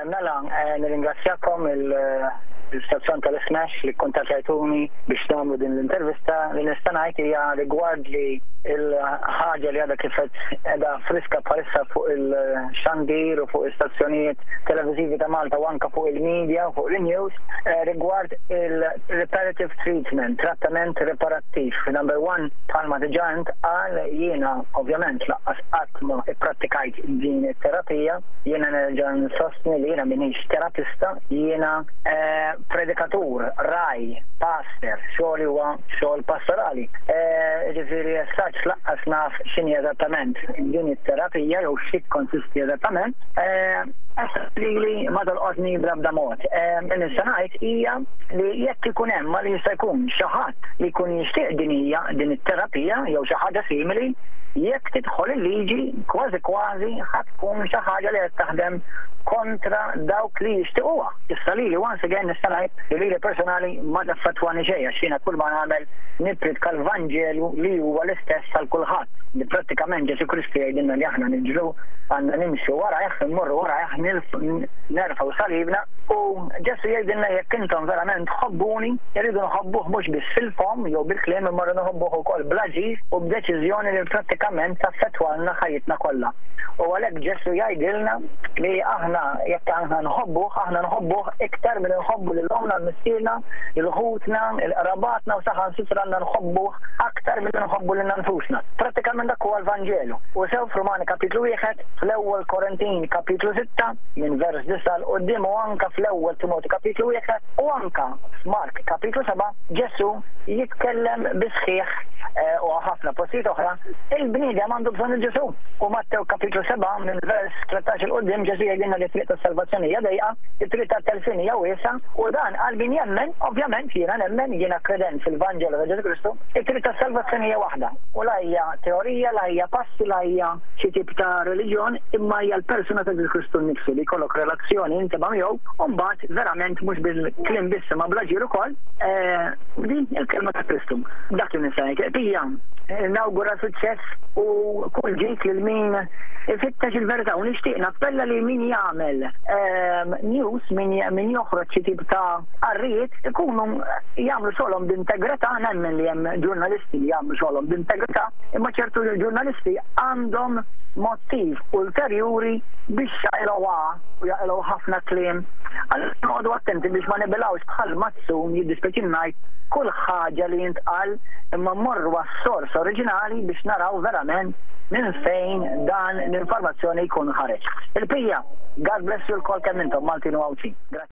Mela, nirringrazzjakom il-istazzjon tal-Smash li kkuntattjajtuni biex nagħmlu din l-intervista. Li nista' ngħid hija rigward li l-ħaġa li għadha kif qed qiegħda friska bħalissa fuq il-xandir u fuq istazzjonijiet televiżivi ta' Malta u anke fuq il-media u fuq il-news rigward il-reparative treatment, trattament riparattiv. Number one, bħalma diġà intqal, jiena ovvjament lanqas qatt ma ipprattikajt din it-terapija. Jiena nerġa' nsostni li jiena m'iniex terapista, jiena predikatur, ragħaj, pastor, xogħli huwa xogħol pastorali. Jiġifieri as such lanqas naf x'inhi eżattament din it-terapija jew xi tikkonsisti eżattament. Lili ma tolqotni bl-ebda mod. Li nista' ngħid hija li jekk ikun hemm għal jista' jkun xi ħadd li jkun jixtieq din hija din it-terapija jew xi ħaġa simili, jekk tidħol il-liġi kważi kważi ħa tkun xi ħaġa li qed taħdem kontra dawk li jixtiquha. Issa lili once again nista' ngħid li lili personali ma taffettwani xejn għax jiena kull ma nagħmel nippriedka l-Vanġelu li huwa l-istess għal kulħadd, li prattikament Ġesù Kristu jgħidilna li aħna niġru għandna nimxu warajh, immorru warajh, nerfgħu salibna u Ġesù jgħidilna jekk intom verament tħobbuni, irridu nħobbuh mhux biss fil-fomm jew bil-kliem imma rridu nħobbuh ukoll bl-aġir u b'deċiżjoni li prattikament taffettwalna ħajjitna kollha. U għalhekk Ġesù jgħidilna li aħna jekk aħna nħobbuh, aħna nħobbuh iktar milli nħobbu lil ommna, 'l missierna, lil ħutna, 'il qrabatna u saħansitra għandna nħobbuh aktar milli nħobbu lilna nfusna. Prattikament dak huwa l-Vanġelu. U sew f'Rumani kapitlu wieħed, fl-Ewwel Korintin kapitlu sitta, minn vers disgħa 'l quddiem u anke fl-Ewwel Timotju kapitlu wieħed u anke f'Mark kapitlu sebgħa, Ġesù jitkellem bis-sħiħ u ħafna postijiet oħra, il-bniedem għandu bżonn il Ġesù. U Mattew kapitlu 7 minn vers 13 'il quddiem Ġesù jgħidilna li t-triq tas-salvazzjoni hija dejqa, it-triq tat-telfien hija wiesgħa u dan għal min jemmen, ovvjament jiena nemmen, jiena kredent fil-Vanġelu ta' Ġesù Kristu, it-triq tas-salvazzjoni hija waħda u la hija teorija, la hija passi, la hija xi tip ta' reliġjon, imma hija l-persuna ta' Ġesù Kristu nnifsu li jkollok relazzjoni intima miegħu u mbagħad verament mhux bil-kliem biss imma bl-aġir ukoll, din il-kelma ta' Kristu. Dak li nista' ngħid. Pija, nawgura suċċess u kull ġid lil min ifittex il-verità u nixtieq nappella li min jagħmel news, min joħroġ xi tip ta' qarrijiet ikunu jagħmlu xogħolhom b'integrità, nemmen li hemm ġurnalisti li jagħmlu xogħolhom b'integrità, imma ċertu ġurnalisti għandhom mottiv ulterjuri biex jaqilgħuha u jaqilgħu ħafna kliem. Allura noqogħdu attenti biex ma nibilgħux bħal mazzun jiddispjaċini ngħid kull ħaġa li jintqal imma mmorru għas-sors oriġinali biex naraw verament minn fejn dan l-informazzjoni jkun ħareġ. Il-bqija, God bless you lkoll kemm intom Maltin u Għawdxin. Grazzi.